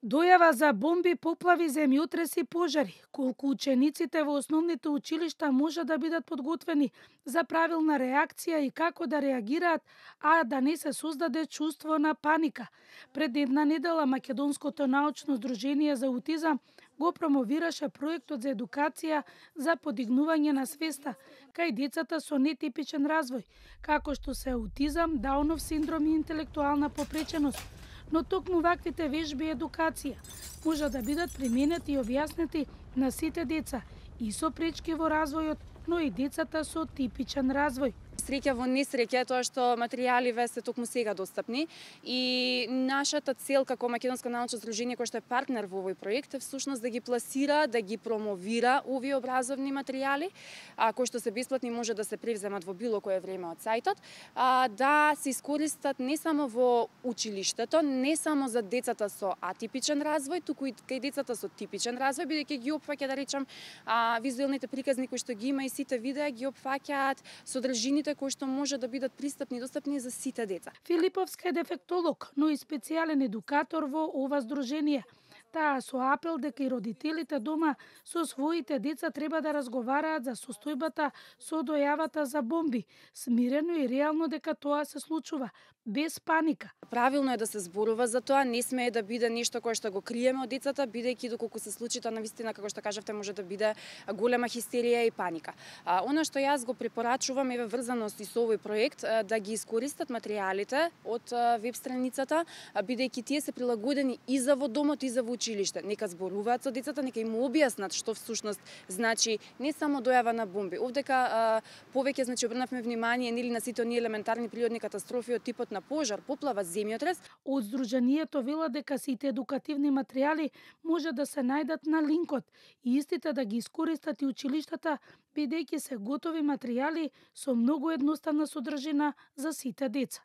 Дојава за бомби, поплави, земјотреси, пожари. Колку учениците во основните училишта може да бидат подготвени за правилна реакција и како да реагираат, а да не се создаде чувство на паника. Пред една недела Македонското научно здружение за аутизам го промовираше проектот за едукација за подигнување на свеста кај децата со нетипичен развој, како што се аутизам, Даунов синдром и интелектуална попреченост. Но токму ваквите вежби и едукација може да бидат применети и објаснети на сите деца и со пречки во развојот, но и децата со типичен развој. Среќа во несреќа тоа што материјаливе се токму сега достапни и нашата цел како Македонско научно здружение кој што е партнер во овој проект е всушност да ги пласира, да ги промовира овие образовни материјали, кои што се бесплатни може да се превземат во било кое време од сајтот, да се искористат не само во училиштето, не само за децата со атипичен развој, туку и кај децата со типичен развој, бидејќи ги опфаќа, да речам, визуелните приказни кои што ги има и сите видеа ги опфаќаат содржините кои што може да бидат пристапни и достапни за сите деца. Филиповска е дефектолог, но и специјален едукатор во ова здружение. Таа со апел дека и родителите дома со своите деца треба да разговараат за состојбата со дојавата за бомби, смирено и реално дека тоа се случува, без паника. Правилно е да се зборува за тоа, не смее да биде нешто кое што го криеме од децата, бидејќи доколку се случи тоа навистина, како што кажавте, може да биде голема хистерија и паника. Она што јас го препорачувам е врзано и со овој проект, да ги искористат материјалите од веб страницата, бидејќи тие се прилагодени и за во домот и за во училиште. Нека зборуваат со децата, нека им објаснат што всушност значи не само дојава на бомби. Овдека повеќе обрнавме внимание нели на сите оние елементарни природни катастрофи од типот на пожар, поплава, земјотрес. Од здруженијето велат дека сите едукативни материјали може да се најдат на линкот и истите да ги искористат и училиштата, бидејќи се готови материјали со многу едноставна содржина за сите деца.